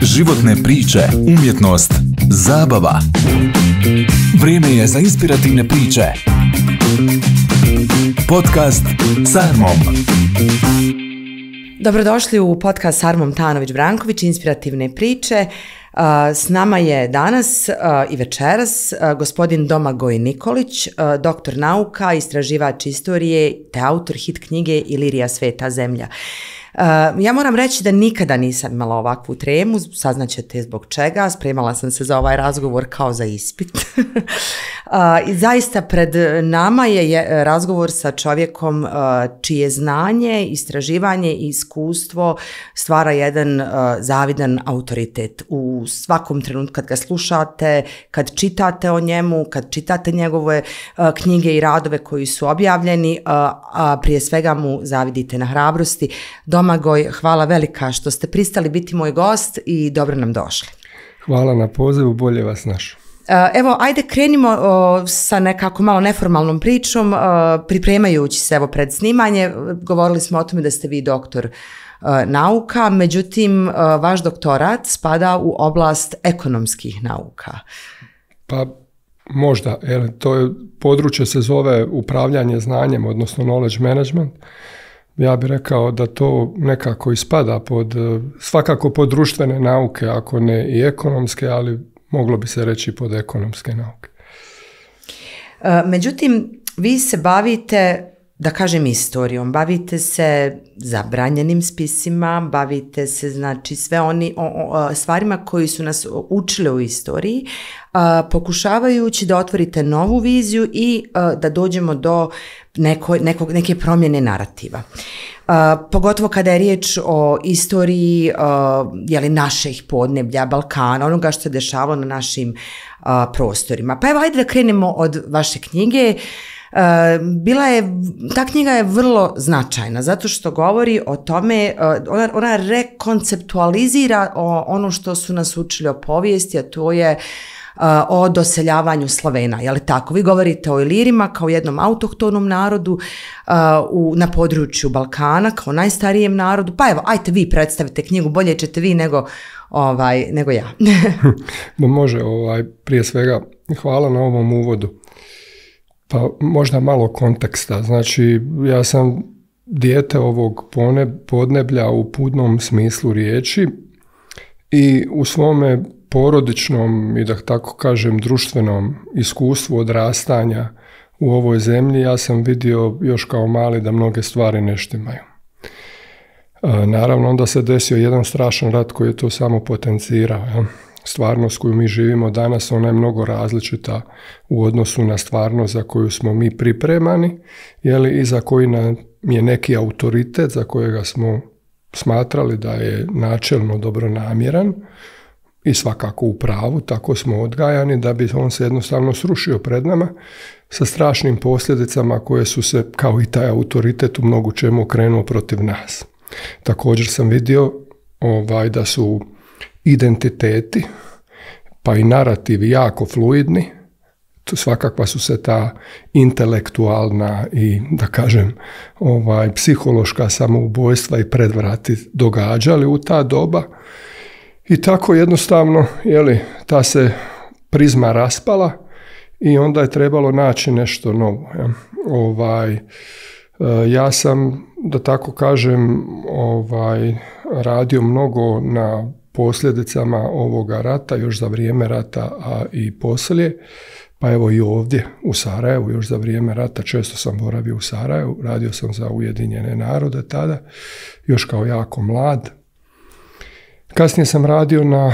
Životne priče, umjetnost, zabava. Vrijeme je za inspirativne priče. Podcast s Armom. Dobrodošli u podcast s Armom Tanović-Branković, inspirativne priče. S nama je danas i večeras gospodin Domagoj Nikolić, doktor nauka, istraživač istorije te autor hit knjige Ilirija sveta zemlja. Ja moram reći da nikada nisam imala ovakvu tremu, saznaćete zbog čega, spremala sam se za ovaj razgovor kao za ispit. I zaista pred nama je razgovor sa čovjekom čije znanje, istraživanje i iskustvo stvara jedan zavidan autoritet. U svakom trenutku kad ga slušate, kad čitate o njemu, kad čitate njegove knjige i radove koji su objavljeni, a prije svega mu zavidite na hrabrosti. Domagoj, hvala velika što ste pristali biti moj gost i dobro nam došli. Hvala na pozivu, bolje vas našao. Evo, ajde krenimo sa nekako malo neformalnom pričom. Pripremajući se evo pred snimanje, govorili smo o tome da ste vi doktor nauka, međutim, vaš doktorat spada u oblast ekonomskih nauka. Pa možda, to je područje se zove upravljanje znanjem, odnosno knowledge management. Ja bih rekao da to nekako ispada svakako pod društvene nauke, ako ne i ekonomske, ali moglo bi se reći pod ekonomske nauke. Međutim, vi se bavite, da kažem, istorijom, bavite se zabranjenim spisima, bavite se znači sve stvarima koji su nas učili u istoriji, pokušavajući da otvorite novu viziju i da dođemo do neke promjene narativa. Pogotovo kada je riječ o istoriji naših podneblja, Balkana, onoga što se dešavalo na našim prostorima. Pa evo, ajde da krenemo od vaše knjige. Ta knjiga je vrlo značajna zato što govori o tome, ona rekonceptualizira ono što su nas učili o povijesti, a to je o doseljavanju Slovena, je li tako? Vi govorite o Ilirima kao jednom autohtonom narodu na području Balkana, kao najstarijem narodu. Pa evo, ajte vi predstavite knjigu, bolje ćete vi nego ja. Može, prije svega hvala na ovom uvodu. Pa možda malo konteksta. Znači, ja sam dijete ovog podneblja u punom smislu riječi i u svome porodičnom i da tako kažem društvenom iskustvu odrastanja u ovoj zemlji ja sam vidio još kao mali da mnoge stvari ne štimaju. Naravno, onda se desio jedan strašan rat koji je to samo potencirao. Ja? Stvarnost koju mi živimo danas, ona je mnogo različita u odnosu na stvarnost za koju smo mi pripremani, i za koji nam je neki autoritet za kojega smo smatrali da je načelno dobronamjeran i svakako u pravu, tako smo odgajani da bi on se jednostavno srušio pred nama sa strašnim posljedicama koje su se, kao i taj autoritet, u mnogo čemu okrenuo protiv nas. Također sam vidio da su identiteti, pa i narativi jako fluidni. Svakakva su se ta intelektualna i, da kažem, psihološka samoubojstva i predvrati događali u ta doba. I tako jednostavno, ta se prizma raspala i onda je trebalo naći nešto novo. Ja sam, da tako kažem, radio mnogo na posljedicama ovoga rata, još za vrijeme rata, a i poslije. Pa evo i ovdje u Sarajevu, još za vrijeme rata, često sam boravio u Sarajevu, radio sam za Ujedinjene narode tada, još kao jako mlad. Kasnije sam radio na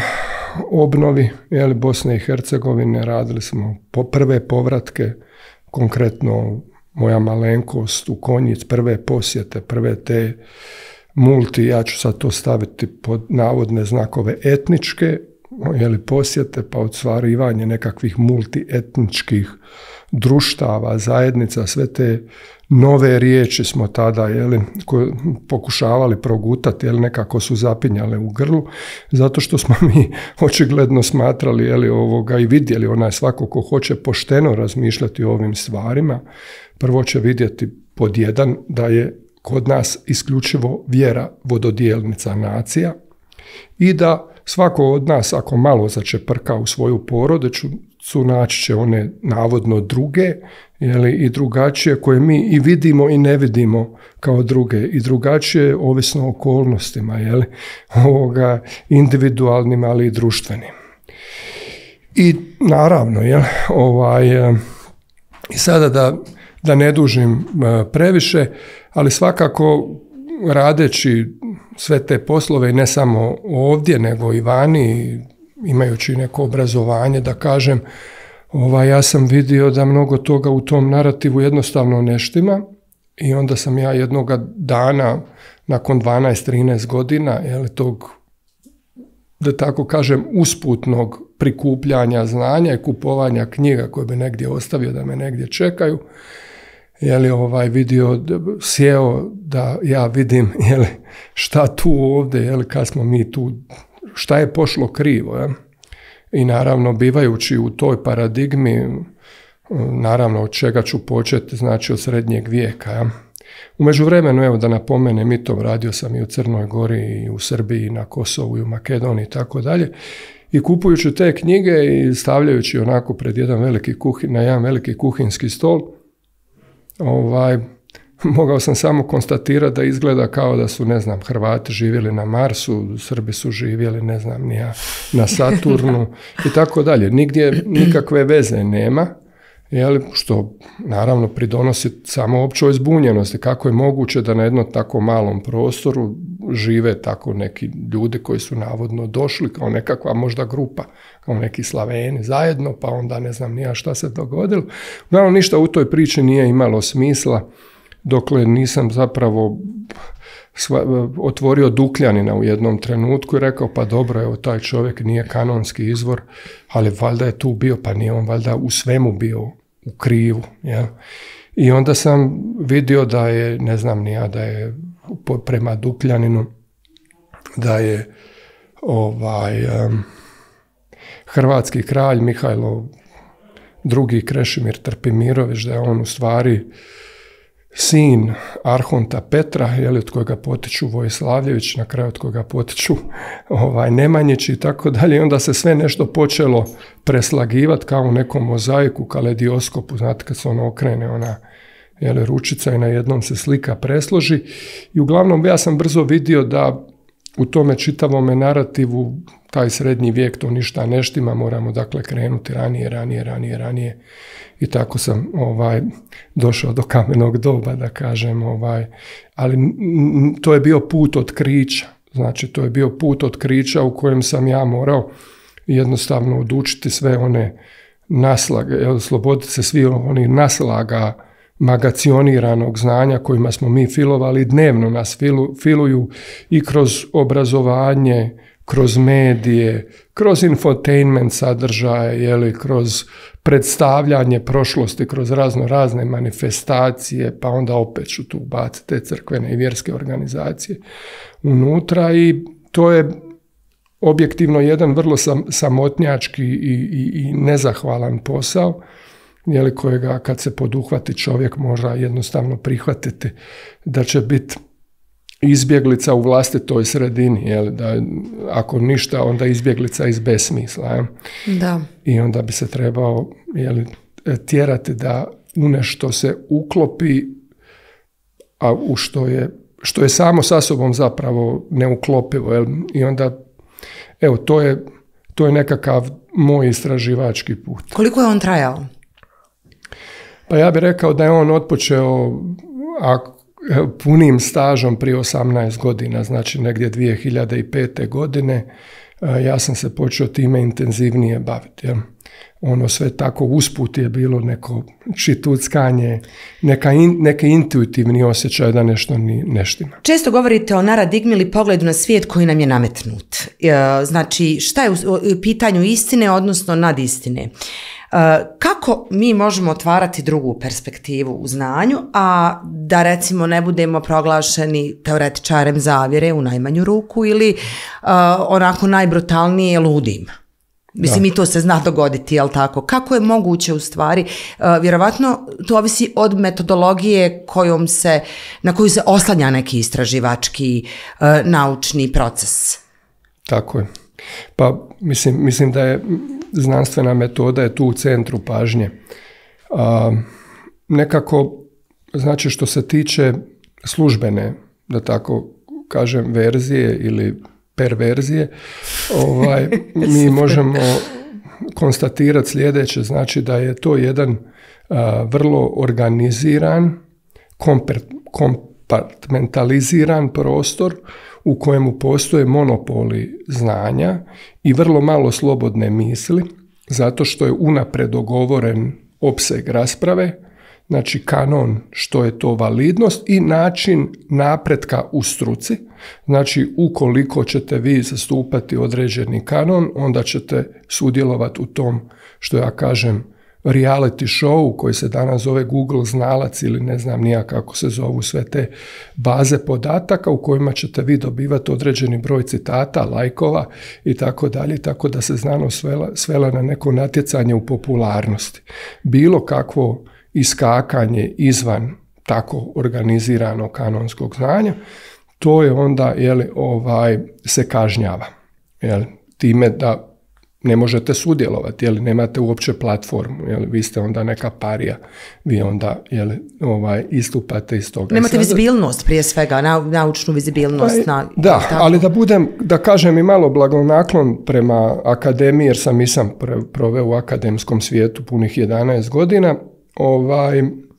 obnovi Bosne i Hercegovine, radili smo prve povratke, konkretno moja malenkost u Konjic, prve posjete, prve te ja ću sad to staviti pod navodne znakove etničke, posjete, pa ostvarivanje nekakvih multietničkih društava, zajednica, sve te nove riječi smo tada pokušavali progutati, nekako su zapinjale u grlu, zato što smo mi očigledno smatrali i vidjeli svako ko hoće pošteno razmišljati o ovim stvarima, prvo će vidjeti pod jedan da je kod nas isključivo vjera vododjelnica nacija i da svako od nas ako malo začeprka u svoju porodicu, naći će one navodno druge, i drugačije koje mi i vidimo i ne vidimo kao druge, i drugačije ovisno o okolnostima, individualnim, ali i društvenim. I naravno, i sada da ne dužim previše, ali svakako radeći sve te poslove, ne samo ovdje, nego i vani, imajući neko obrazovanje, da kažem, ja sam vidio da mnogo toga u tom narativu jednostavno ne štima, i onda sam ja jednoga dana, nakon 12-13 godina, tog, da tako kažem, usputnog prikupljanja znanja i kupovanja knjiga koje bi negdje ostavio da me negdje čekaju, vidio, sjeo da ja vidim šta tu ovdje, kad smo mi tu, šta je pošlo krivo. I naravno, bivajući u toj paradigmi, naravno od čega ću početi, znači od srednjeg vijeka. U međuvremenu, evo da napomenem i to, radio sam i u Crnoj Gori, i u Srbiji, i na Kosovu, i u Makedoniji, i tako dalje. I kupujući te knjige i stavljajući onako pred na jedan veliki kuhinski stol, mogao sam samo konstatirati da izgleda kao da su, Hrvati živjeli na Marsu, Srbi su živjeli, na Saturnu i tako dalje. Nigdje nikakve veze nema, što naravno pridonosi samo općoj zbunjenosti. Kako je moguće da na jednom tako malom prostoru žive tako neki ljudi koji su navodno došli kao nekakva možda grupa, kao neki Slaveni zajedno, pa onda ne znam ni ja šta se dogodilo. Uglavnom, ništa u toj priči nije imalo smisla, dokle nisam zapravo otvorio Dukljanina u jednom trenutku i rekao, pa dobro, evo, taj čovjek nije kanonski izvor, ali valjda je tu bio, pa nije on valjda u svemu bio u krivu. I onda sam vidio da je, ne znam ni ja, da je prema Dukljaninu, da je hrvatski kralj Mihajlo II. Krešimir Trpimirović, da je on u stvari sin arhonta Petra, od kojega potiču Vojslavljević, na kraju od kojega potiču Nemanjić i tako dalje. I onda se sve nešto počelo preslagivati kao u nekom mozaiku, kaledioskopu, znate kad se ono okrene, ona ručica i na jednom se slika presloži. I uglavnom ja sam brzo vidio da u tome čitavome narativu taj srednji vijek to ništa ne štima, moramo dakle krenuti ranije. I tako sam došao do kamenog doba, da kažem, ali to je bio put otkrića. Znači, to je bio put otkrića u kojem sam ja morao jednostavno odučiti sve one naslage, osloboditi se svi onih naslaga magacioniranog znanja kojima smo mi filovali, dnevno nas filuju i kroz obrazovanje, kroz medije, kroz infotainment sadržaje, kroz predstavljanje prošlosti, kroz razne manifestacije, pa onda opet ću tu baciti te crkvene i vjerske organizacije unutra, i to je objektivno jedan vrlo samotnjački i nezahvalan posao, kojega kad se poduhvati čovjek mora jednostavno prihvatiti da će biti izbjeglica u vlastitoj sredini, da ako ništa, onda izbjeglica iz besmisla. Da. I onda bi se trebao tjerati da u nešto se uklopi, a u što je samo sa sobom zapravo neuklopivo. I onda, evo, to je nekakav moj istraživački put. Koliko je on trajao? Pa ja bih rekao da je on otpočeo punim stažom prije 18 godina, znači negdje 2005. godine. Ja sam se počeo time intenzivnije baviti. Ono sve tako usput je bilo neko čituckanje, neki intuitivni osjećaj da nešto ne štima. Često govorite o naradigmi ili pogledu na svijet koji nam je nametnut. Znači, šta je u pitanju istine, odnosno nadistine? Kako mi možemo otvarati drugu perspektivu u znanju, a da recimo ne budemo proglašeni teoretičarem zavjere u najmanju ruku ili onako najbrutalnije ludim? Mislim, i to se zna dogoditi, jel tako? Kako je moguće u stvari? Vjerovatno to ovisi od metodologije na koju se oslanja neki istraživački naučni proces. Tako je. Pa mislim da je znanstvena metoda je tu u centru pažnje. Nekako, znači što se tiče službene, da tako kažem, verzije ili perverzije, mi možemo konstatirati sljedeće, znači da je to jedan vrlo organiziran, kompartmentaliziran prostor u kojemu postoje monopoli znanja i vrlo malo slobodne misli, zato što je unaprijed dogovoren opseg rasprave, znači kanon što je to validnost i način napretka u struci. Znači ukoliko ćete vi zastupati određeni kanon, onda ćete sudjelovati u tom, što ja kažem, reality show koji se danas zove Google znalac ili ne znam nija kako se zovu sve te baze podataka u kojima ćete vi dobivati određeni broj citata, lajkova i tako dalje, tako da se znanost svela na neko natjecanje u popularnosti. Bilo kakvo iskakanje izvan tako organiziranog kanonskog znanja, to je onda se kažnjava. Time da ne možete sudjelovati, nemate uopće platformu, vi ste onda neka parija, vi onda istupate iz toga. Nemate vizibilnost prije svega, naučnu vizibilnost. Ali da kažem i malo blagonaklon prema akademiji, jer sam proveo u akademskom svijetu punih 11 godina,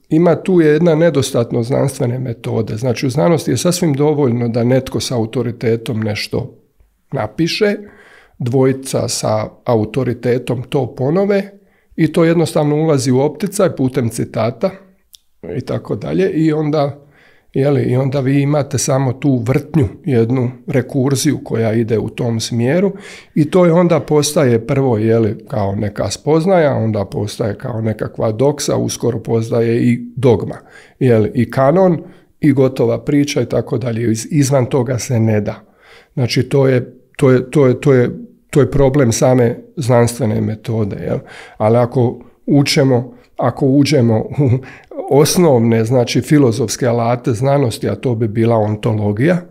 ima tu jedna nedostatnost znanstvene metode. Znači u znanosti je sasvim dovoljno da netko sa autoritetom nešto napiše, dvojica sa autoritetom to ponove i to jednostavno ulazi u opticaj putem citata i tako dalje i onda vi imate samo tu vrtnju, jednu rekurziju koja ide u tom smjeru i to je onda postaje prvo kao neka spoznaja, onda postaje kao nekakva doksa, uskoro postaje i dogma, i kanon i gotova priča i tako dalje. Izvan toga se ne da. Znači to je problem same znanstvene metode. Ali ako uđemo u osnovne, znači filozofske alate znanosti, a to bi bila ontologija,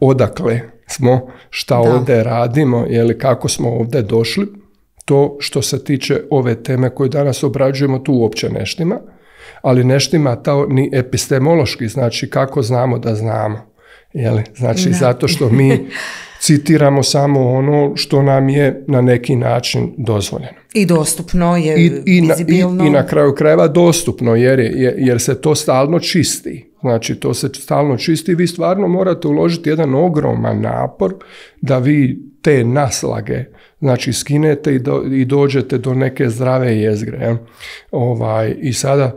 odakle smo, šta ovdje radimo, kako smo ovdje došli, to što se tiče ove teme koje danas obrađujemo, tu uopće ne štima, ali ne štima to ni epistemološki, znači kako znamo da znamo. Znači zato što mi citiramo samo ono što nam je na neki način dozvoljeno. I dostupno je, vizibilno. I na kraju krajeva dostupno, jer se to stalno čisti. Znači to se stalno čisti i vi stvarno morate uložiti jedan ogroman napor da vi te naslage, znači skinete i dođete do neke zdrave jezgre. I sada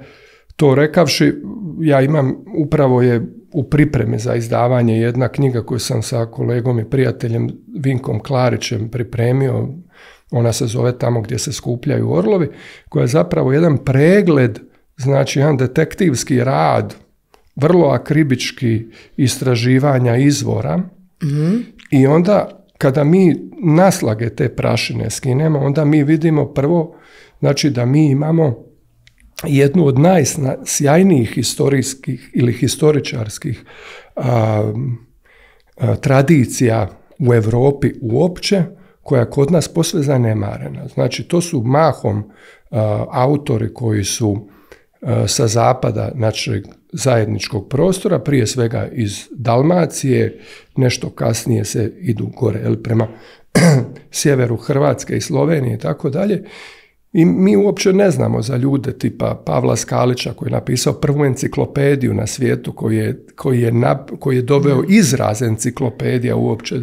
to rekavši, ja imam, upravo je u pripremi za izdavanje jedna knjiga koju sam sa kolegom i prijateljem Vinkom Klarićem pripremio, ona se zove Tamo gdje se skupljaju orlovi, koja je zapravo jedan pregled, znači jedan detektivski rad, vrlo akribički istraživanja izvora i onda kada mi naslage te prašine skinemo, onda mi vidimo prvo, znači da mi imamo jednu od najsjajnijih historijskih ili historičarskih tradicija u Europi uopće, koja kod nas posve zanemarena. Znači, to su mahom autori koji su sa zapada našeg zajedničkog prostora, prije svega iz Dalmacije, nešto kasnije se idu gore prema sjeveru Hrvatske i Slovenije i tako dalje. I mi uopće ne znamo za ljude tipa Pavla Skalića koji je napisao prvu enciklopediju na svijetu, koji je doveo izraz enciklopedija uopće,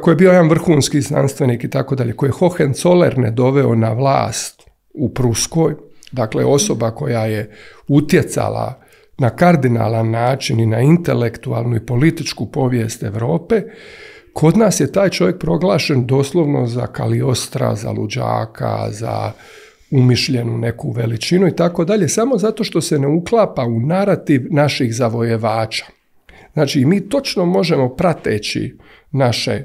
koji je bio jedan vrhunski znanstvenik i tako dalje, koji je Hohenzollerne doveo na vlast u Pruskoj, dakle osoba koja je utjecala na kardinalan način i na intelektualnu i političku povijest Europe. Kod nas je taj čovjek proglašen doslovno za Kaliostra, za luđaka, za umišljenu neku veličinu i tako dalje, samo zato što se ne uklapa u narativ naših zavojevača. Znači, mi točno možemo, prateći naše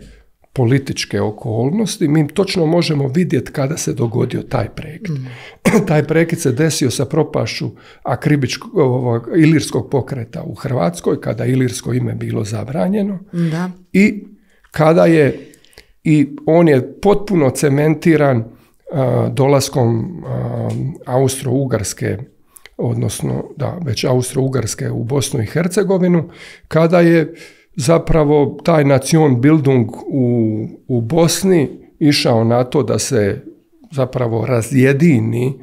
političke okolnosti, mi točno možemo vidjeti kada se dogodio taj prekid. Taj prekid se desio sa propašću ilirskog pokreta u Hrvatskoj, kada ilirsko ime bilo zabranjeno. Da. I kada je, i on je potpuno cementiran dolaskom Austro-Ugarske, odnosno već Austro-Ugarske u Bosnu i Hercegovinu, kada je zapravo taj Nationbildung u Bosni išao na to da se zapravo razjedini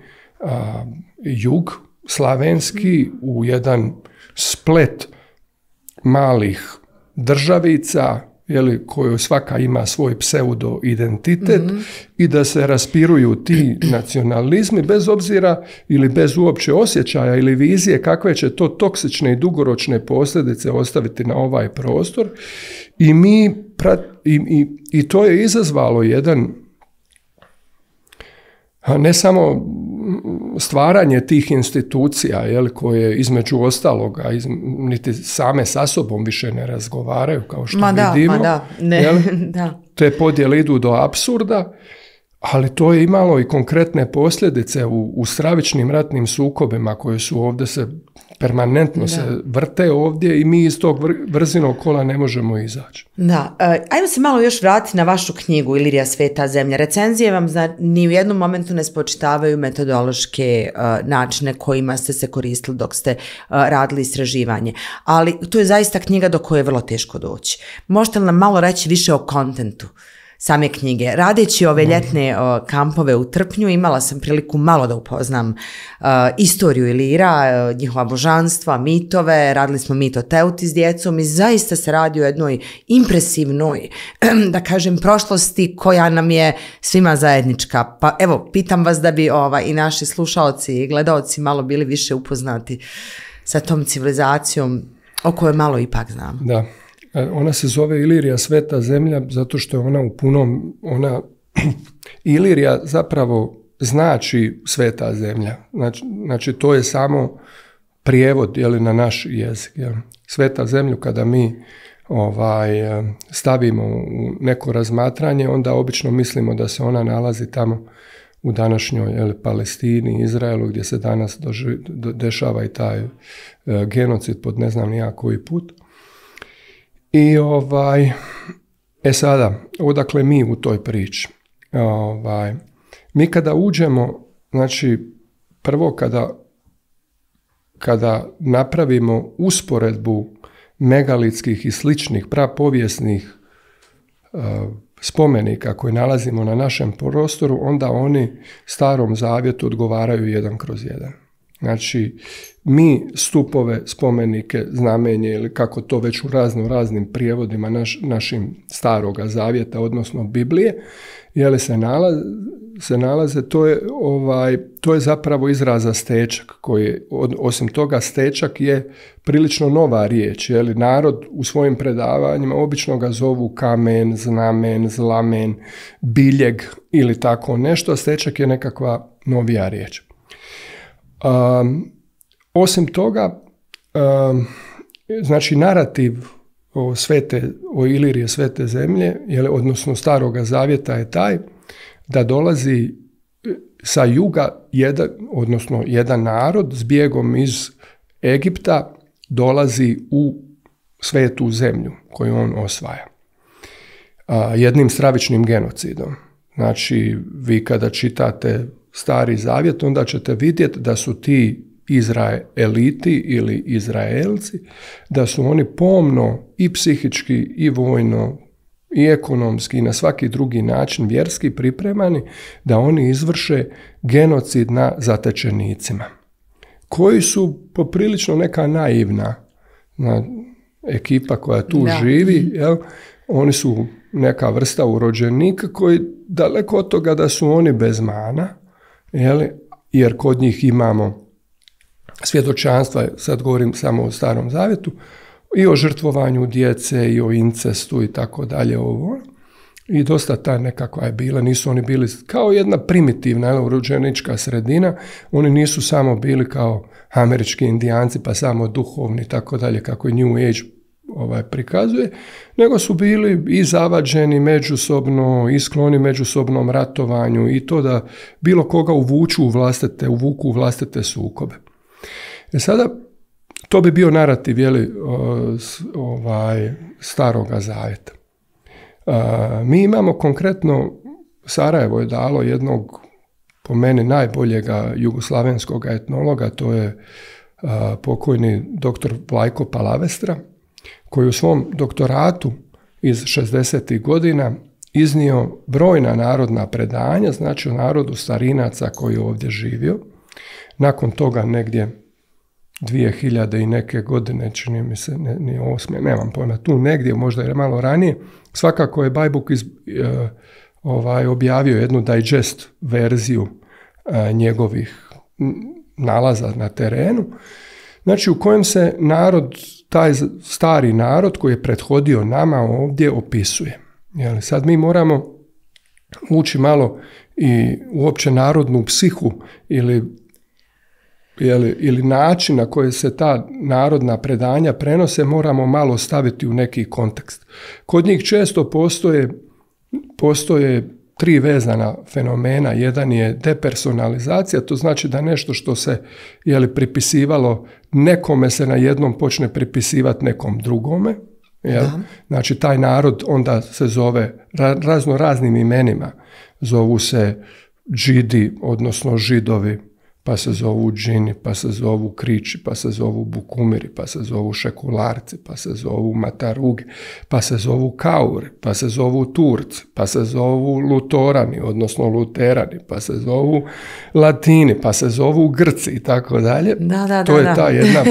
jug slavenski u jedan splet malih državica, koju svaka ima svoj pseudo-identitet, i da se raspiruju ti nacionalizmi bez obzira ili bez uopće osjećaja ili vizije kakve će to toksične i dugoročne posljedice ostaviti na ovaj prostor. I to je izazvalo jedan, ne samo stvaranje tih institucija, koje između ostaloga niti same sa sobom više ne razgovaraju, kao što vidimo. Te podjele idu do apsurda, ali to je imalo i konkretne posljedice u stravičnim ratnim sukobima koje su ovdje permanentno se vrte ovdje i mi iz tog vrzinog kola ne možemo izaći. Da, ajmo se malo još vratiti na vašu knjigu Ilirija, sveta zemlja. Recenzije vam ni u jednom momentu ne spočitavaju metodološke načine kojima ste se koristili dok ste radili istraživanje, ali to je zaista knjiga do koje je vrlo teško doći. Možete li nam malo reći više o kontentu same knjige? Radeći ove ljetne kampove u Trpnju, imala sam priliku malo da upoznam istoriju Ilira, njihova božanstva, mitove, radili smo mit o Teuti s djecom i zaista se radi o jednoj impresivnoj, da kažem, prošlosti koja nam je svima zajednička. Pa evo, pitam vas da bi i naši slušaoci i gledaoci malo bili više upoznati sa tom civilizacijom o kojoj malo ipak znam. Da. Ona se zove Ilirija, sveta zemlja, zato što je ona u punom, Ilirija zapravo znači sveta zemlja. Znači to je samo prijevod na naš jezik. Sveta zemlju kada mi stavimo u neko razmatranje, onda obično mislimo da se ona nalazi tamo u današnjoj Palestini, Izraelu, gdje se danas dešava i taj genocid pod ne znam nijak koji put. I sada, odakle mi u toj priči? Mi kada uđemo, znači prvo kada napravimo usporedbu megalitskih i sličnih prapovijesnih spomenika koje nalazimo na našem prostoru, onda oni Starom Zavjetu odgovaraju jedan kroz jedan. Znači, mi stupove, spomenike, znamenje ili kako to već u raznim prijevodima našim Staroga Zavjeta, odnosno Biblije, se nalaze, to je zapravo izraza stečak, koji, osim toga, stečak je prilično nova riječ. Narod u svojim predavanjima obično ga zovu kamen, znamen, zlamen, biljeg ili tako nešto, a stečak je nekakva novija riječ. Osim toga, znači narativ o Ilirije, svete zemlje, odnosno Staroga Zavjeta je taj da dolazi sa juga jedan narod s bijegom iz Egipta dolazi u svetu zemlju koju on osvaja. Jednim stravičnim genocidom. Znači, vi kada čitate Stari Zavjet, onda ćete vidjeti da su ti Izraeliti ili Izraelci, da su oni pomno i psihički i vojno i ekonomski i na svaki drugi način vjerski pripremani da oni izvrše genocid na zatečenicima, koji su poprilično neka naivna ekipa koja tu živi, oni su neka vrsta urođenika koji daleko od toga da su oni bez mana, jer kod njih imamo svjedočanstva, sad govorim samo o Starom Zavjetu, i o žrtvovanju djece i o incestu i tako dalje ovo. I dosta ta nekakva je bila, nisu oni bili kao jedna primitivna urođenička sredina, oni nisu samo bili kao američki indijanci pa samo duhovni i tako dalje kako je New Age prikazuje, nego su bili i zavađeni međusobno, i skloni međusobnom ratovanju i to da bilo koga uvuku u vlastite sukobe. Sada, to bi bio narativ Staroga Zavjeta. Mi imamo konkretno, Sarajevo je dalo jednog, po meni, najboljega jugoslavenskog etnologa, to je pokojni dr. Vlajko Palavestra, koji u svom doktoratu iz 60. godina iznio brojna narodna predanja, znači o narodu Starinaca koji je ovdje živio. Nakon toga negdje 2000 i neke godine, čini mi se, ni 8, nemam pojma, tu negdje, možda je malo ranije, svakako je Bajbuk objavio jednu digest verziju njegovih nalaza na terenu, znači u kojem se narod, taj stari narod koji je prethodio nama ovdje opisuje. Jel, sad mi moramo ući malo i uopće narodnu psihu ili način na koji se ta narodna predanja prenose, moramo malo staviti u neki kontekst. Kod njih često postoje 3 vezana fenomena. Jedan je depersonalizacija, to znači da nešto što se pripisivalo nekome se na jednom počne pripisivati nekom drugome. Znači taj narod onda se zove razno raznim imenima. Zovu se Džidi, odnosno Židovi, pa se zovu Džini, pa se zovu Kriči, pa se zovu Bukumiri, pa se zovu Šekularci, pa se zovu Matarugi, pa se zovu Kauri, pa se zovu Turci, pa se zovu Lutorani, odnosno Luterani, pa se zovu Latini, pa se zovu Grci i tako dalje. To je ta jedna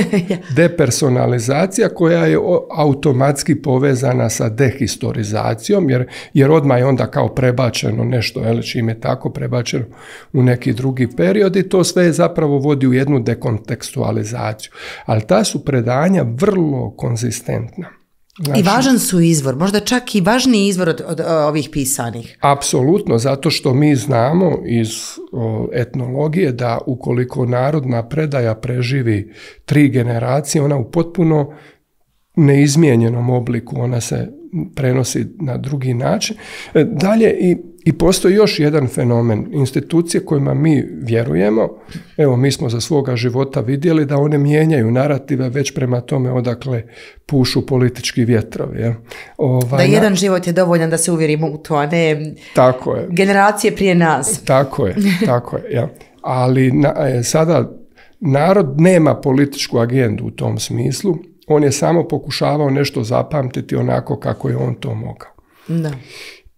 depersonalizacija koja je automatski povezana sa dehistorizacijom, jer odmah je onda kao prebačeno nešto, čim je tako prebačeno u neki drugi period i to sve zapravo vodi u jednu dekontekstualizaciju. Ali ta su predanja vrlo konzistentna. Znači, i važan su izvor, možda čak i važniji izvor od ovih pisanih. Apsolutno, zato što mi znamo iz etnologije da ukoliko narodna predaja preživi 3 generacije, ona u potpuno neizmijenjenom obliku, ona se prenosi na drugi način. Dalje i postoji još jedan fenomen. Institucije kojima mi vjerujemo, evo mi smo za svoga života vidjeli da one mijenjaju narative već prema tome odakle pušu politički vjetrovi. Da jedan život je dovoljan da se uvjerimo u to, a ne tako je. Generacije prije nas. Tako je. Ja. Ali sada narod nema političku agendu u tom smislu. On je samo pokušavao nešto zapamtiti onako kako je on to mogao. Da.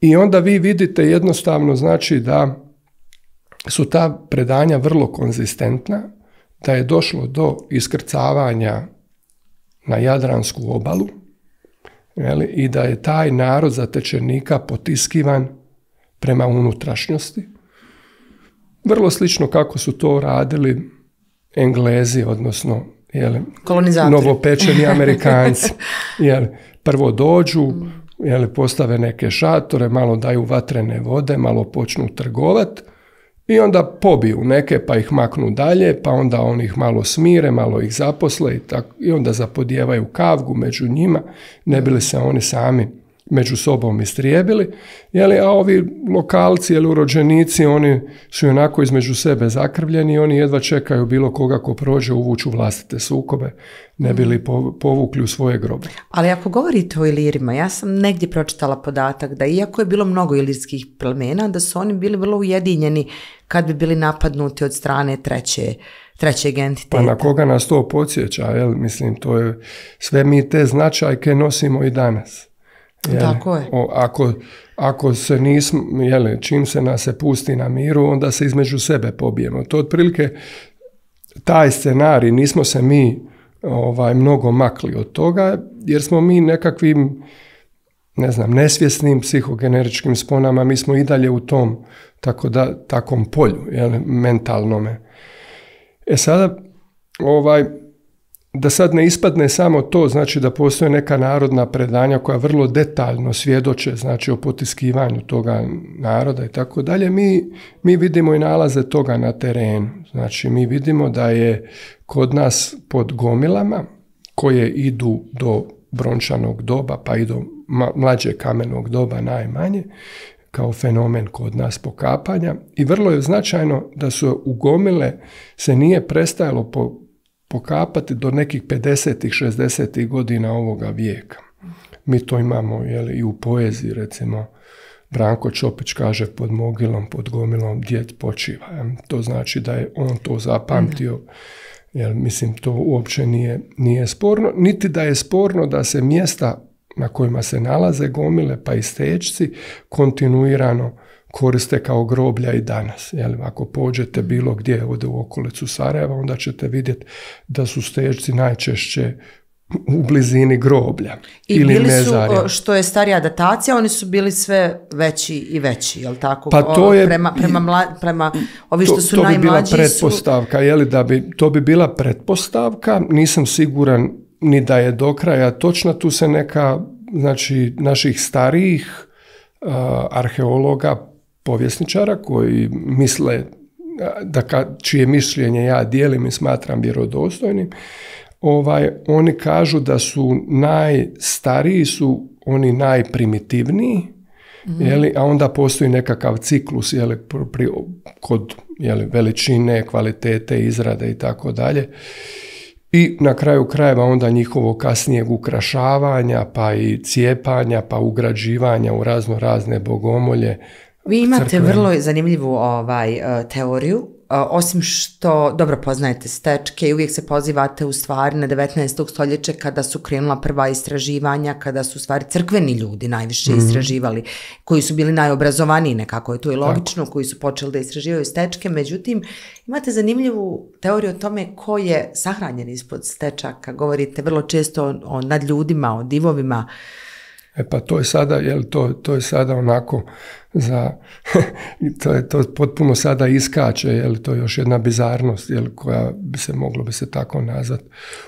I onda vi vidite jednostavno, znači da su ta predanja vrlo konzistentna, da je došlo do iskrcavanja na Jadransku obalu, i da je taj narod zatečenika potiskivan prema unutrašnjosti. Vrlo slično kako su to radili Englezi, odnosno novopečeni Amerikanci. Prvo dođu, postave neke šatore, malo daju vatrene vode, malo počnu trgovat i onda pobiju neke pa ih maknu dalje, pa onda oni ih malo smire, malo ih zaposle i onda zapodijevaju kavgu među njima, ne bi li se oni sami među sobom istrijebili, a ovi lokalci ili urođenici, oni su onako između sebe zakrvljeni i oni jedva čekaju bilo koga ko prođe uvuću vlastite sukobe, ne bi li povukli u svoje grobe. Ali ako govorite o Ilirima, ja sam negdje pročitala podatak da iako je bilo mnogo ilirskih plemena, da su oni bili vrlo ujedinjeni kad bi bili napadnuti od strane trećeg entiteta. Pa na koga nas to podsjeća, mislim, to je, sve mi te značajke nosimo i danas. Tako je. Ako se nismo, čim se nas se pusti na miru, onda se između sebe pobijemo. To otprilike taj scenarij, nismo se mi mnogo makli od toga, jer smo mi nekakvim, nesvjesnim psihogeneričkim sponama, mi smo i dalje u tom takom polju, mentalnome. Sada, da sad ne ispadne samo to, znači da postoje neka narodna predanja koja vrlo detaljno svjedoče, znači o potiskivanju toga naroda i tako dalje, mi vidimo i nalaze toga na terenu. Znači mi vidimo da je kod nas pod gomilama koje idu do brončanog doba pa i do mlađe kamenog doba najmanje, kao fenomen kod nas pokapanja, i vrlo je značajno da su u gomile se nije prestajalo pokapati do nekih 50-ih, 60-ih godina ovoga vijeka. Mi to imamo i u poeziji, recimo, Branko Čopić kaže pod mogilom, pod gomilom djed počiva. To znači da je on to zapamtio. Jer, mislim, to uopće nije sporno. Niti da je sporno da se mjesta na kojima se nalaze gomile pa i stečci kontinuirano koriste kao groblja i danas. Ako pođete bilo gdje ovdje u okolicu Sarajeva, onda ćete vidjeti da su stečci najčešće u blizini groblja. I ili bili su, što je starija datacija, oni su bili sve veći i veći, je li tako? Pa to je, prema ovi što su najmlađi to bi bila pretpostavka, to bi bila pretpostavka, nisam siguran ni da je do kraja točna, tu se neka, znači, naših starijih arheologa, povjesničara koji misle, čije mišljenje ja dijelim i smatram vjerodostojnim, oni kažu da su najstariji su oni najprimitivniji, a onda postoji nekakav ciklus kod veličine, kvalitete, izrade i tako dalje. I na kraju krajeva onda njihovo kasnijeg ukrašavanja, pa i cijepanja, pa ugrađivanja u razne bogomolje. Vi imate vrlo zanimljivu teoriju, osim što dobro poznajete stečke i uvijek se pozivate u stvari na 19. stoljeće kada su krenula prva istraživanja, kada su u stvari crkveni ljudi najviše istraživali, koji su bili najobrazovaniji, nekako je to i logično, koji su počeli da istraživaju stečke. Međutim, imate zanimljivu teoriju o tome ko je sahranjen ispod stečaka. Govorite vrlo često o nadljudima, o divovima. Pa to je sada, to je sada onako to potpuno sada iskače, to je još jedna bizarnost, koja moglo bi se tako nazvat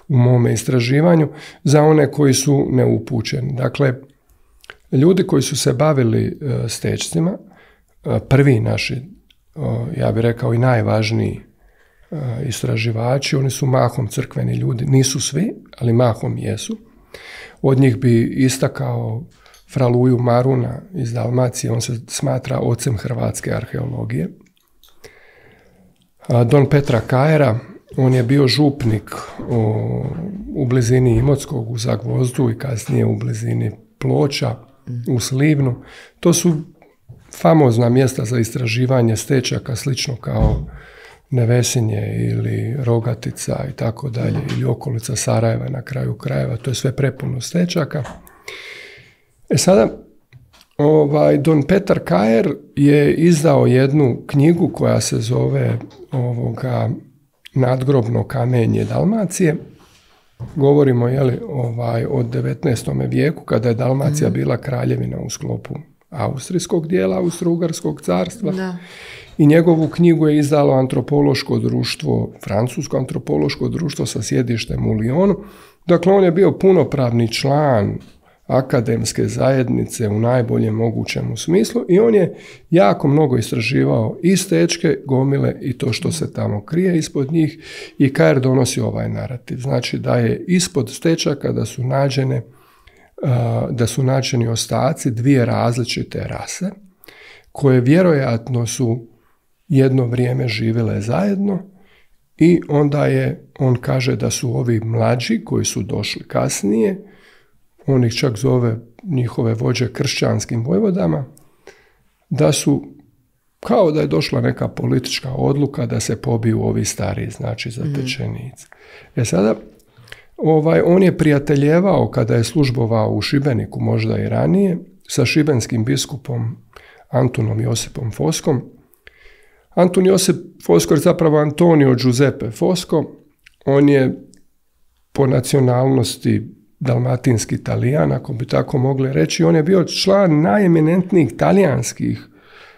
u mome istraživanju, za one koji su neupućeni. Dakle, ljudi koji su se bavili stečcima, prvi naši, ja bih rekao i najvažniji istraživači, oni su mahom crkveni ljudi, nisu svi, ali mahom jesu. Od njih bi istakao fra Luju Maruna iz Dalmacije, on se smatra ocem hrvatske arheologije. Don Petra Kajera, on je bio župnik u blizini Imotskog, u Zagvozdu i kasnije u blizini Ploča, u Slivnu. To su famozna mjesta za istraživanje stečaka, slično kao Nevesinje ili Rogatica i tako dalje, ili okolica Sarajeva na kraju krajeva, to je sve prepuno stečaka. Sada, Don Petar Kajer je izdao jednu knjigu koja se zove Nadgrobno kamenje Dalmacije. Govorimo o 19. vijeku, kada je Dalmacija bila kraljevina u sklopu austrijskog dijela, Austro-Ugarskog carstva. Da. I njegovu knjigu je izdalo antropološko društvo, francusko antropološko društvo sa sjedištem u Lyonu. Dakle, on je bio punopravni član akademske zajednice u najboljem mogućem smislu i on je jako mnogo istraživao i stečke, gomile i to što se tamo krije ispod njih, i Kajer donosi ovaj narativ. Znači da je ispod stečaka da su nađeni ostaci dvije različite rase koje vjerojatno su jedno vrijeme živjele zajedno, i onda on kaže da su ovi mlađi koji su došli kasnije, on ih čak zove njihove vođe kršćanskim vojvodama, da su kao da je došla neka politička odluka da se pobiju ovi stariji, znači zatečenici. Sada, on je prijateljevao kada je službovao u Šibeniku, možda i ranije, sa šibenskim biskupom Antunom Josipom Foskom. Antun Josip Fosco je zapravo Antonio Giuseppe Fosco. On je po nacionalnosti dalmatinski Talijan, ako bi tako mogli reći. On je bio član najeminentnijih talijanskih,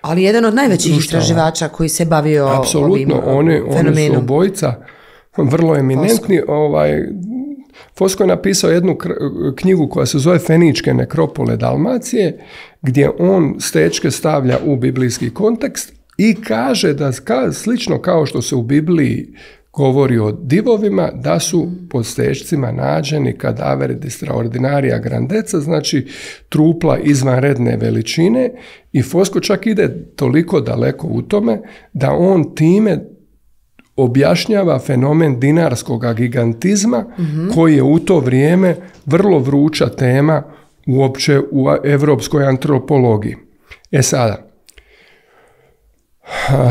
ali jedan od najvećih istraživača koji se bavio ovim fenomenom. Oni su obojica vrlo eminentni. Fosco je napisao jednu knjigu koja se zove Feničke nekropole Dalmacije, gdje on stečke stavlja u biblijski kontekst i kaže da slično kao što se u Bibliji govori o divovima, da su pod stečcima nađeni kadaveri di straordinaria grandezza, znači trupla izvanredne veličine, i Fosco čak ide toliko daleko u tome da on time objašnjava fenomen dinarskog gigantizma, koji je u to vrijeme vrlo vruća tema uopće u evropskoj antropologiji. Sada,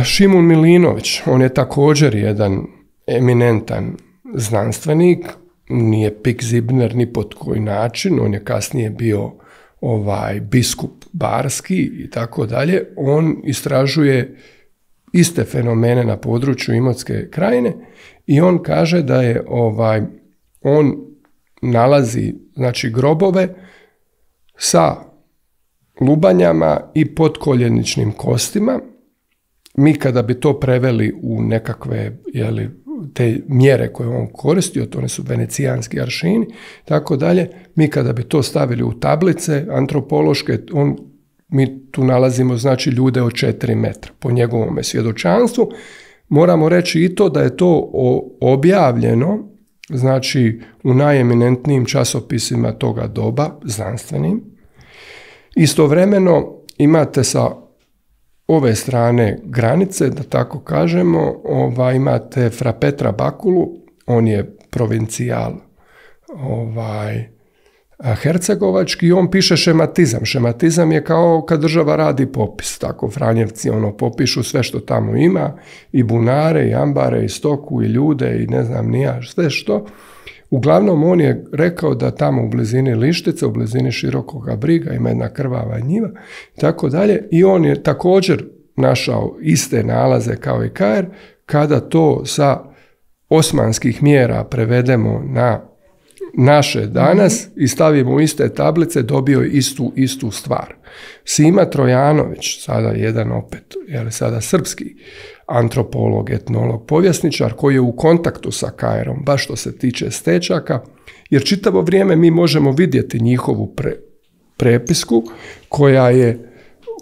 Šimun Milinović, on je također jedan eminentan znanstvenik, nije Pik Zibner ni pod koji način, on je kasnije bio biskup barski i tako dalje. On istražuje iste fenomene na području Imotske krajine i on kaže da je on nalazi znači grobove sa lubanjama i potkoljeničnim kostima. Mi kada bi to preveli u nekakve te mjere koje on koristio, to ne su venecijanski aršini, tako dalje, mi kada bi to stavili u tablice antropološke, mi tu nalazimo znači ljude od 4 metra po njegovom svjedočanstvu. Moramo reći i to da je to objavljeno znači u najeminentnijim časopisima toga doba, znanstvenim. Istovremeno imate sa ove strane granice, da tako kažemo, imate fra Petra Bakulu, on je provincijal hercegovački i on piše šematizam. Šematizam je kao kad država radi popis, tako Franjevci popišu sve što tamo ima, i bunare, i ambare, i stoku, i ljude, i ne znam ni ja sve što. Uglavnom on je rekao da tamo u blizini Lištice, u blizini Širokoga Briga ima jedna krvava njiva i tako dalje, i on je također našao iste nalaze kao i Kajer. Kada to sa osmanskih mjera prevedemo na naše danas i stavimo u iste tablice, dobio je istu stvar. Sima Trojanović, sada jedan opet, sada srpski antropolog, etnolog, povjesničar, koji je u kontaktu sa Kajerom, baš što se tiče stečaka, jer čitavo vrijeme mi možemo vidjeti njihovu prepisku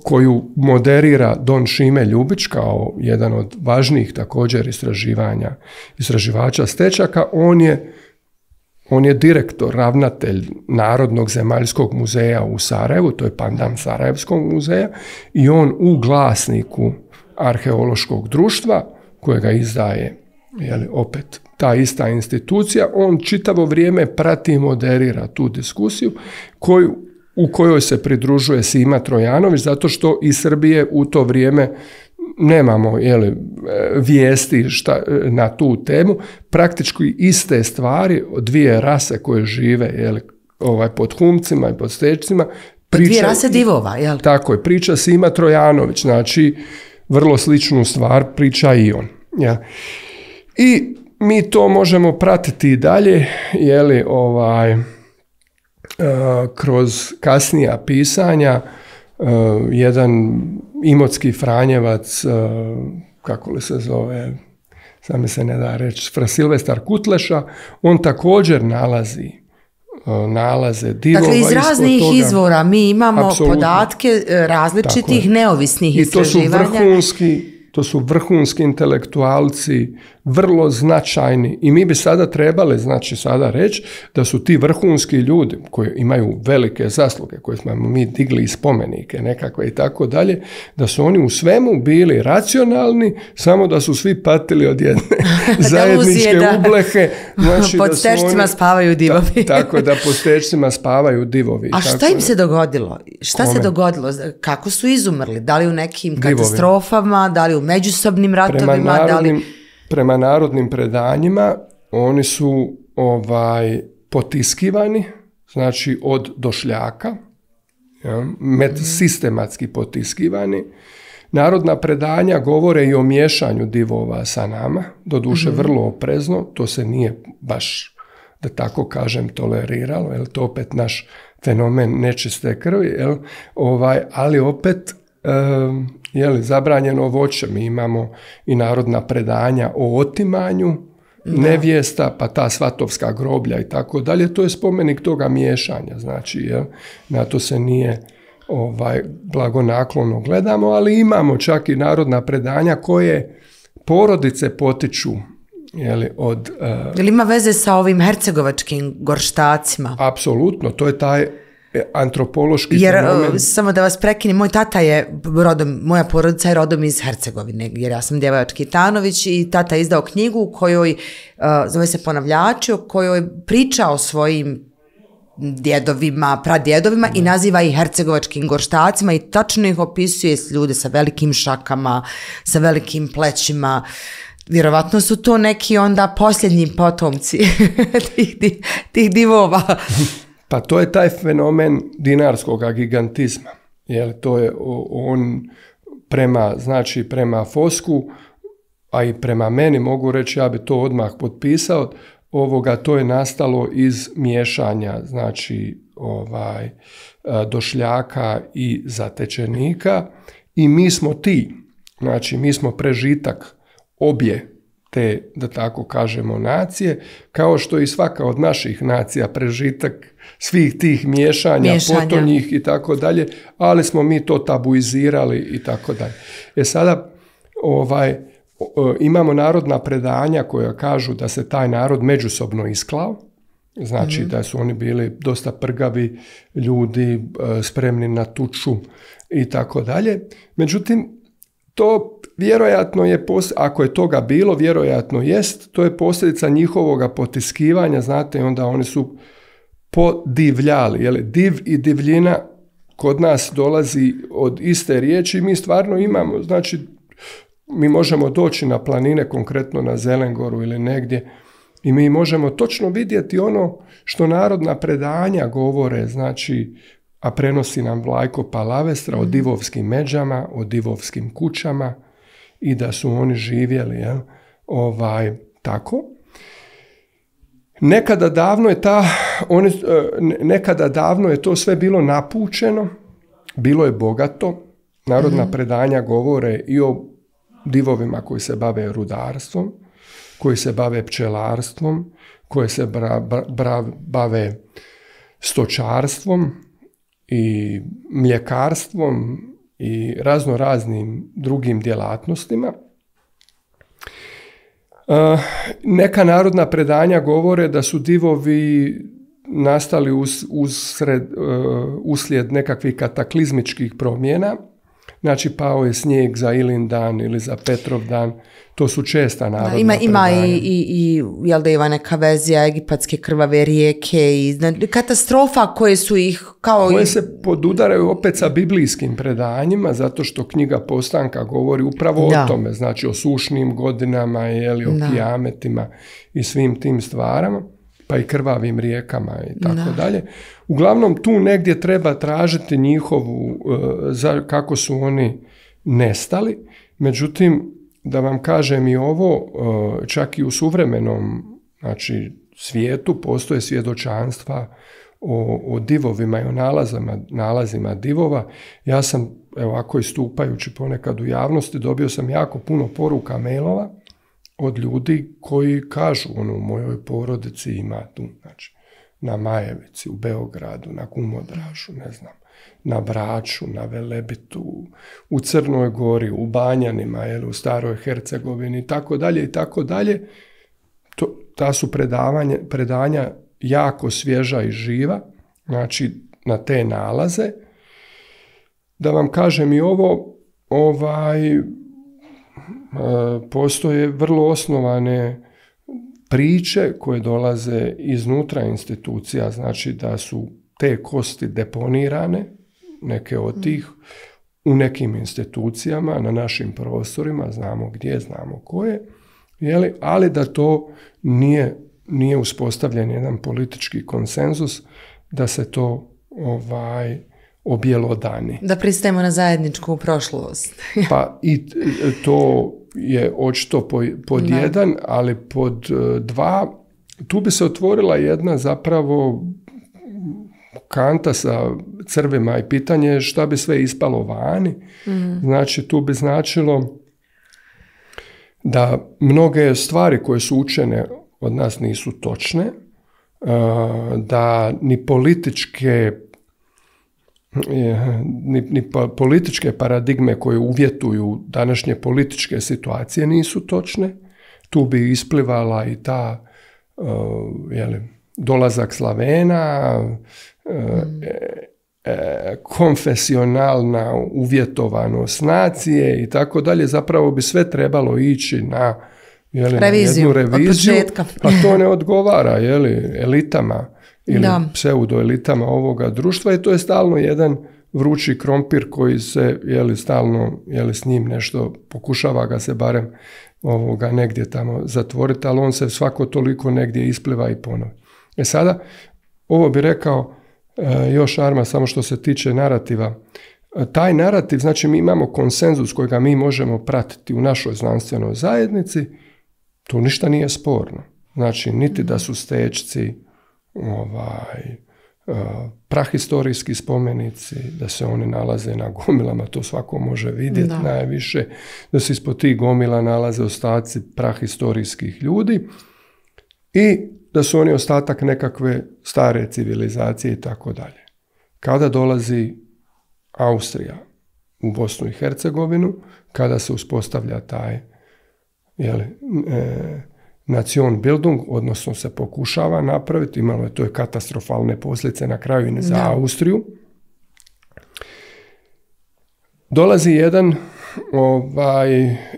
koju moderira Don Šime Ljubić kao jedan od važnijih također istraživača stečaka. On je direktor, ravnatelj Narodnog zemaljskog muzeja u Sarajevu, to je pandam Sarajevskog muzeja, i on u glasniku arheološkog društva, kojega izdaje opet ta ista institucija, on čitavo vrijeme prati i moderira tu diskusiju u kojoj se pridružuje Sima Trojanović, zato što iz Srbije u to vrijeme nemamo vijesti na tu temu. Praktički iste stvari od dvije rase koje žive pod Humcima i pod Stečcima. Dvije rase divova, jel? Tako je, priča Sima Trojanović, znači vrlo sličnu stvar priča i on. Ja. I mi to možemo pratiti i dalje, kroz kasnija pisanja. Jedan imotski Franjevac, kako li se zove, sad mi se ne da reći, Fra Silvestar Kutleša, on također nalaze divova. Dakle, iz raznih izvora mi imamo podatke različitih neovisnih istraživanja. To su vrhunski intelektualci, vrlo značajni, i mi bi sada trebali sada reći da su ti vrhunski ljudi koji imaju velike zasluge, koje smo mi digli iz spomenike nekakve i tako dalje, da su oni u svemu bili racionalni, samo da su svi patili od jedne zajedničke ublehe. Znači, pod stečcima spavaju divovi. Tako da pod stečcima spavaju divovi. A šta im se dogodilo? Se dogodilo? Kako su izumrli? Da li u nekim katastrofama, da li u međusobnim ratovima? Prema narodnim predanjima oni su potiskivani, znači od došljaka, sistematski potiskivani. Narodna predanja govore i o miješanju divova sa nama, doduše vrlo oprezno, to se nije baš, da tako kažem, toleriralo, jer to opet naš fenomen nečiste krvi, ali opet zabranjeno voće. Mi imamo i narodna predanja o otimanju nevjesta, pa ta svatovska groblja i tako dalje. To je spomenik toga miješanja, znači, na to se nije blagonaklono gledamo, ali imamo čak i narodna predanja koje porodice potiču od... Jel ima veze sa ovim hercegovačkim gorštacima? Apsolutno, to je taj antropološki fenomen. Samo da vas prekinem, moj tata je moja porodica je rodom iz Hercegovine, jer ja sam Djevojački Tanović, i tata je izdao knjigu u kojoj, zove se Ponavljači, u kojoj priča o svojim djedovima, pradjedovima i naziva ih hercegovačkim gorštacima i tačno ih opisuje ljude sa velikim šakama, sa velikim plećima. Vjerovatno su to neki onda posljednji potomci tih divova. Pa to je taj fenomen dinarskog gigantizma. Jer to je on prema Fosku, a i prema meni mogu reći, ja bi to odmah potpisao, to je nastalo iz miješanja, znači Došljaka i Zatečenika i mi smo ti, znači mi smo prežitak obje te, da tako kažemo, nacije, kao što i svaka od naših nacija prežitak svih tih miješanja. Potonjih i tako dalje, ali smo mi to tabuizirali i tako dalje. Sada imamo narodna predanja koja kažu da se taj narod međusobno isklao, znači da su oni bili dosta prgavi ljudi, spremni na tuču i tako dalje. Međutim, to vjerojatno je, ako je toga bilo, vjerojatno jest, to je posljedica njihovoga potiskivanja, znate, onda oni su podivljali, jel? Div i divljina kod nas dolazi od iste riječi, mi stvarno imamo, znači, mi možemo doći na planine, konkretno na Zelengoru ili negdje, i mi možemo točno vidjeti ono što narodna predanja govore, znači, a prenosi nam Vlajko Palavestra o divovskim međama, o divovskim kućama i da su oni živjeli, jel? Tako. Nekada davno je to sve bilo napučeno, bilo je bogato. Narodna predanja govore i o divovima koji se bave rudarstvom, koji se bave pčelarstvom, koji se bave stočarstvom i mljekarstvom i raznim drugim djelatnostima. Neka narodna predanja govore da su divovi nastali uslijed nekakvih kataklizmičkih promjena. Znači, pao je snijeg za Ilindan ili za Petrovdan. To su česta narodna predanja. Ima i jel da ima neka vezija egipatske krvave rijeke i katastrofa koje su ih kao... Koje se podudaraju opet sa biblijskim predanjima, zato što knjiga Postanka govori upravo o tome. Znači, o sušnim godinama, o kijametima i svim tim stvarama, pa i krvavim rijekama i tako dalje. Uglavnom, tu negdje treba tražiti njihovu, kako su oni nestali. Međutim, da vam kažem i ovo, čak i u suvremenom, znači, svijetu postoje svjedočanstva o divovima i o nalazima divova. Ja sam, ovako istupajući ponekad u javnosti, dobio sam jako puno poruka, mailova od ljudi koji kažu, u mojoj porodici ima tu, znači, na Majevici, u Beogradu, na Kumodražu, ne znam, na Braču, na Velebitu, u Crnoj Gori, u Banjanima, u Staroj Hercegovini, i tako dalje, i tako dalje. Ta su predanja jako svježa i živa, znači, na te nalaze. Da vam kažem i ovo, postoje vrlo osnovane priče koje dolaze iznutra institucija, znači da su te kosti deponirane, neke od tih, u nekim institucijama, na našim prostorima, znamo gdje, znamo koje, ali da to nije uspostavljen jedan politički konsenzus, da se to objelodani. Da pristajemo na zajedničku prošlost. Pa i to je očito pod jedan, ali pod dva, tu bi se otvorila jedna zapravo kanta sa crvima i pitanje je šta bi sve ispalo vani. Znači, tu bi značilo da mnoge stvari koje su učene od nas nisu točne, da ni političke paradigme koje uvjetuju današnje političke situacije nisu točne. Tu bi isplivala i ta dolazak Slavena, konfesionalna uvjetovanost nacije i tako dalje. Zapravo bi sve trebalo ići na jednu reviziju, od početka. a to ne odgovara elitama ili pseudoelitama ovoga društva i to je stalno jedan vrući krompir koji se stalno s njim nešto pokušava ga se barem negdje tamo zatvoriti, ali on se svako toliko negdje ispliva i ponovi. Sada, ovo bi rekao još Arma, samo što se tiče narativa. Taj narativ, znači mi imamo konsenzus kojega mi možemo pratiti u našoj znanstvenoj zajednici, to ništa nije sporno. Znači, niti da su stečci prahistorijski spomenici, da se oni nalaze na gomilama, to svako može vidjeti najviše, da se ispod tih gomila nalaze ostaci prahistorijskih ljudi i da su oni ostatak nekakve stare civilizacije i tako dalje. Kada dolazi Austrija u Bosnu i Hercegovinu, kada se uspostavlja taj Nationbildung, odnosno se pokušava napraviti, imalo je to je katastrofalne posljedice na kraju i za Austriju. Dolazi jedan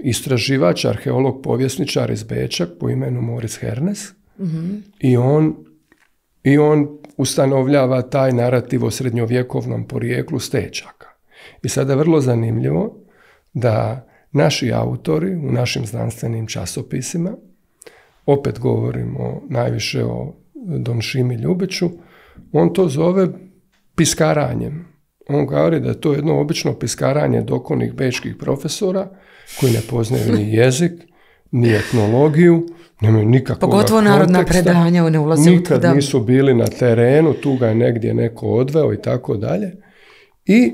istraživač, arheolog, povjesničar iz Beča po imenu Moritz Hernes i on ustanovljava taj narativ o srednjovjekovnom porijeklu stečaka. I sada je vrlo zanimljivo da naši autori u našim znanstvenim časopisima, opet govorimo najviše o Don Šimi Ljubiću, on to zove piskaranjem. On govori da je to jedno obično piskaranje dokonih bečkih profesora koji ne poznaju ni jezik, ni etnologiju, nemaju nikakvog konteksta. Pogotovo narodna predanja ne ulaze u to. Nikad nisu bili na terenu, tu ga je negdje neko odveo i tako dalje. I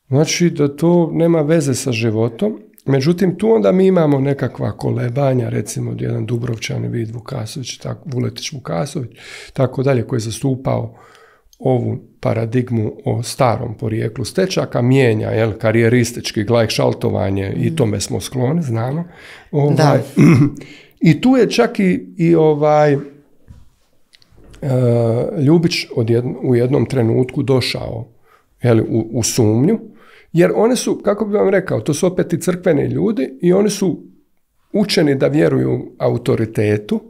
znači da to nema veze sa životom. Međutim, tu onda mi imamo nekakva kolebanja, recimo jedan Dubrovčani Vid Vukasović, Vuletić Vukasović, tako dalje, koji je zastupao ovu paradigmu o starom porijeklu stečaka, mijenja karijeristički glajkšaltovanje i tome smo skloni, znamo. I tu je čak i Ljubić u jednom trenutku došao u sumnju, jer one su, kako bi vam rekao, to su opet i crkveni ljudi i oni su učeni da vjeruju autoritetu,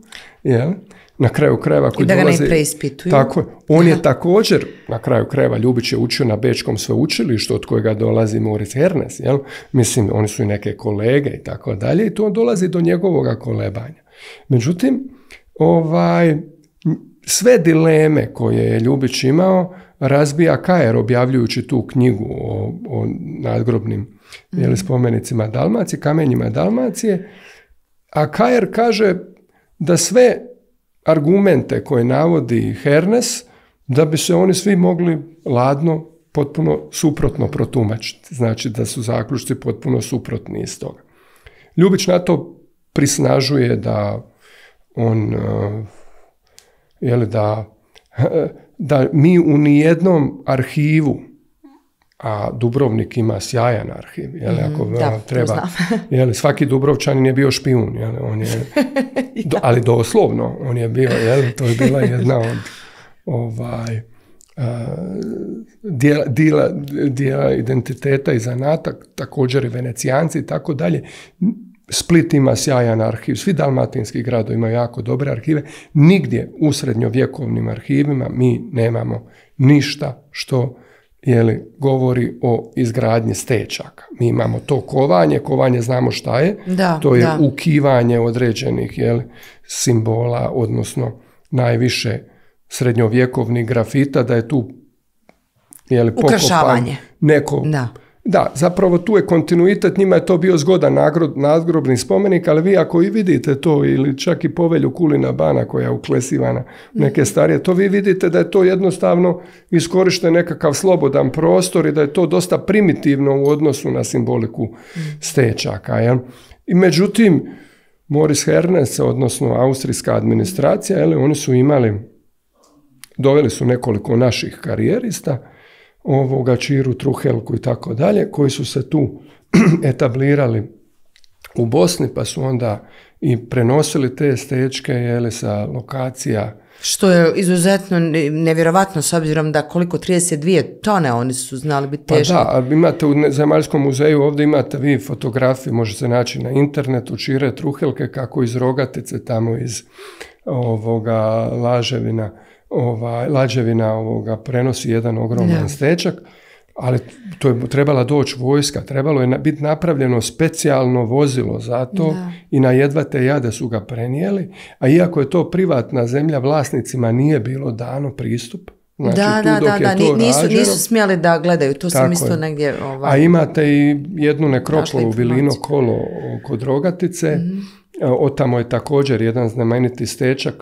na kraju krajeva koji da ga dolaze, ne preispituju. Tako, on je također, na kraju krajeva, Ljubić je učio na Bečkom sveučilištu od kojega dolazi Moritz Hernes, mislim, oni su i neke kolege i tako dalje, i to dolazi do njegovoga kolebanja. Međutim, sve dileme koje je Ljubić imao razbija Kajer objavljujući tu knjigu o nadgrobnim spomenicima Dalmacije, kamenjima Dalmacije, a Kajer kaže da sve argumente koje navodi Hernes, da bi se oni svi mogli ladno, potpuno suprotno protumačiti. Znači da su zaključci potpuno suprotni iz toga. Ljubić na to prisnažuje da on da mi u nijednom arhivu, a Dubrovnik ima sjajan arhiv, ako treba, svaki Dubrovčanin je bio špijun, on je, ali doslovno, on je bio, to je bila jedna od dijela identiteta i zanata, također i Venecijanci i tako dalje. Split ima sjajan arhiv, svi dalmatinski gradovi imaju jako dobre arhive, nigdje u srednjovjekovnim arhivima mi nemamo ništa što govori o izgradnji stečaka. Mi imamo to kovanje znamo šta je, to je ukivanje određenih simbola, odnosno najviše srednjovjekovnih grafita, da je tu ukrašavanje. Neko... Da, zapravo tu je kontinuitet, njima je to bio zgodan nadgrobni spomenik, ali vi ako i vidite to, ili čak i povelju Kulina Bana koja je uklesivana neke starije, to vi vidite da je to jednostavno iskorišten nekakav slobodan prostor i da je to dosta primitivno u odnosu na simboliku stečaka. I međutim, Moritz Hernes, odnosno austrijska administracija, oni su doveli su nekoliko naših karijerista, Čiru, Truhelku i tako dalje, koji su se tu etablirali u Bosni, pa su onda i prenosili te stečke sa lokacija. Što je izuzetno nevjerovatno s obzirom da koliko 32 tone oni su znali biti teški. Pa da, imate u Zemaljskom muzeju, ovdje imate vi fotografije, može se naći na internetu, Čire, Truhelke, kako iz Rogatice, tamo iz Laževina, lađevina prenosi jedan ogroman stečak, ali to je trebala doći vojska, trebalo je biti napravljeno specijalno vozilo za to i na jedva te jade su ga prenijeli, a iako je to privatna zemlja, vlasnicima nije bilo dano pristup. Znači, nisu smjeli da gledaju, to sam isto negdje... A imate i jednu nekropolu, Vilino kolo kod Rogatice, otamo je također jedan znameniti stečak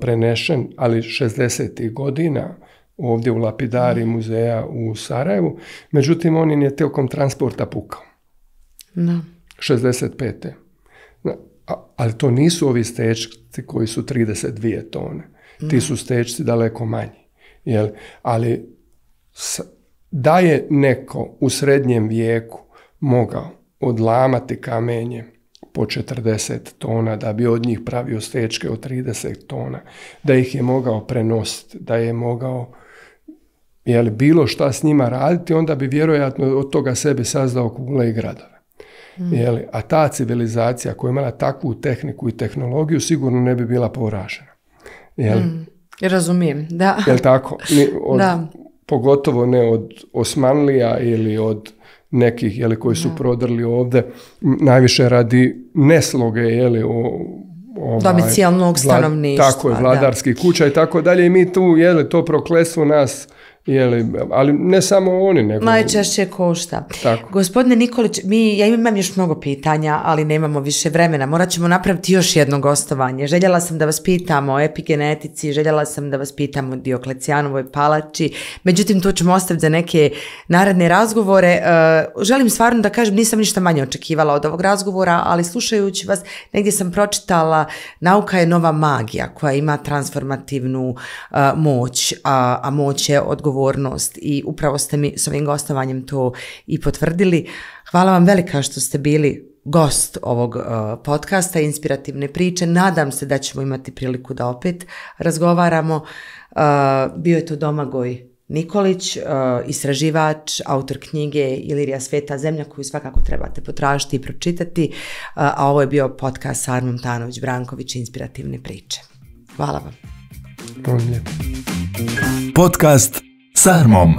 prenešen, ali 60. godina, ovdje u lapidari muzeja u Sarajevu, međutim on je tijekom transporta pukao. 65. Ali to nisu ovi stečci koji su 32 tone. Ti su stečci daleko manji. Ali da je neko u srednjem vijeku mogao odlamati kamenje po 40 tona, da bi od njih pravio stečke od 30 tona, da ih je mogao prenositi, da je mogao bilo šta s njima raditi, onda bi vjerojatno od toga sebi sazdao kule i gradove. A ta civilizacija koja je imala takvu tehniku i tehnologiju sigurno ne bi bila poražena. Razumijem, da. Jel tako? Pogotovo ne od Osmanlija ili od nekih koji su prodrli ovdje, najviše radi nesloge domicijalnog stanovništva. Tako je, vladarskih kuća i tako dalje. I mi tu, to prokletstvo nas, ali ne samo oni, nego... Najčešće košta. Tako. Gospodine Nikolić, ja imam još mnogo pitanja, ali nemamo više vremena. Morat ćemo napraviti još jedno gostovanje. Željela sam da vas pitam o epigenetici, željela sam da vas pitam o Dioklecijanovoj palači, međutim to ćemo ostaviti za neke naredne razgovore. Želim stvarno da kažem, nisam ništa manje očekivala od ovog razgovora, ali slušajući vas, negdje sam pročitala, nauka je nova magija koja ima transformativnu moć, a moć je odgovornost i upravo ste mi s ovim gostovanjem to i potvrdili. Hvala vam velika što ste bili gost ovog podcasta Inspirativne priče. Nadam se da ćemo imati priliku da opet razgovaramo. Bio je to Domagoj Nikolić, istraživač, autor knjige Ilirija Sveta zemlja, koju svakako trebate potražiti i pročitati, a ovo je bio podcast Sarmom Tanović-Branković Inspirativne priče. Hvala vam. Podcast Sarmom.